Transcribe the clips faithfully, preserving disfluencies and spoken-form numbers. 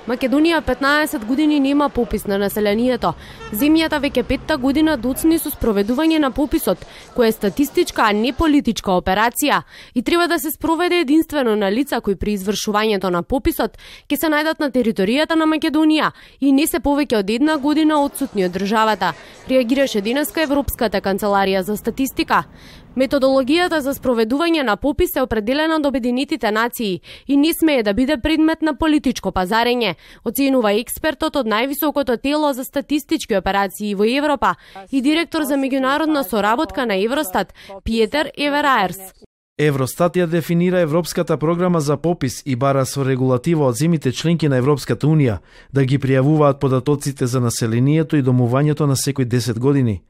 Македонија петнаесет години нема попис на населението. Земјата веќе петта година доцни со спроведување на пописот, која е статистичка, а не политичка операција, и треба да се спроведе единствено на лица кои при извршувањето на пописот ќе се најдат на територијата на Македонија и не се повеќе од една година отсутни од државата, реагираше денеска Европската канцеларија за статистика. Методологијата за спроведување на попис е определена од Обединетите нации и не смее да биде предмет на политичко пазарење, оценува експертот од највисокото тело за статистички операции во Европа и директор за меѓународна соработка на Евростат, Пиетер Евераерс. Евростат ја дефинира Европската програма за попис и бара со регулатива од земјите членки на Европската Унија да ги пријавуваат податоците за населението и домувањето на секој десет години.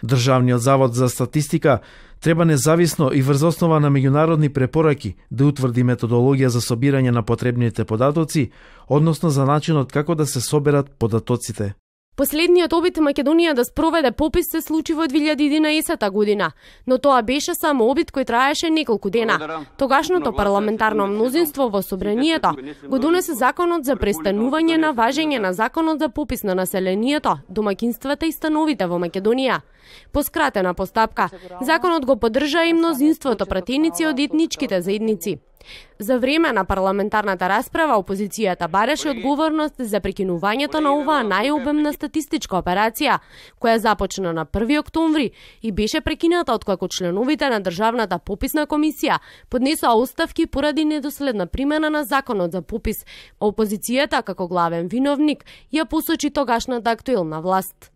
Државниот завод за статистика треба независно и врз основа на меѓународни препораки да утврди методологија за собирање на потребните податоци, односно за начинот како да се соберат податоците. Последниот обид Македонија да спроведе попис се случи во две илјади и единаесетта година, но тоа беше само обид кој траеше неколку дена. Тогашното парламентарно мнозинство во собранието го донесе законот за престанување на важење на законот за попис на населението, домаќинствата и становите во Македонија. По скратена постапка, законот го поддржа и мнозинството пратеници од етничките заедници. За време на парламентарната расправа, опозицијата бараше одговорност за прекинувањето на оваа најобемна статистичка операција, која започна на први октомври и беше прекината откако членовите на Државната пописна комисија поднесоа оставки поради недоследна примена на законот за попис. Опозицијата, како главен виновник, ја посочи тогашната актуелна власт.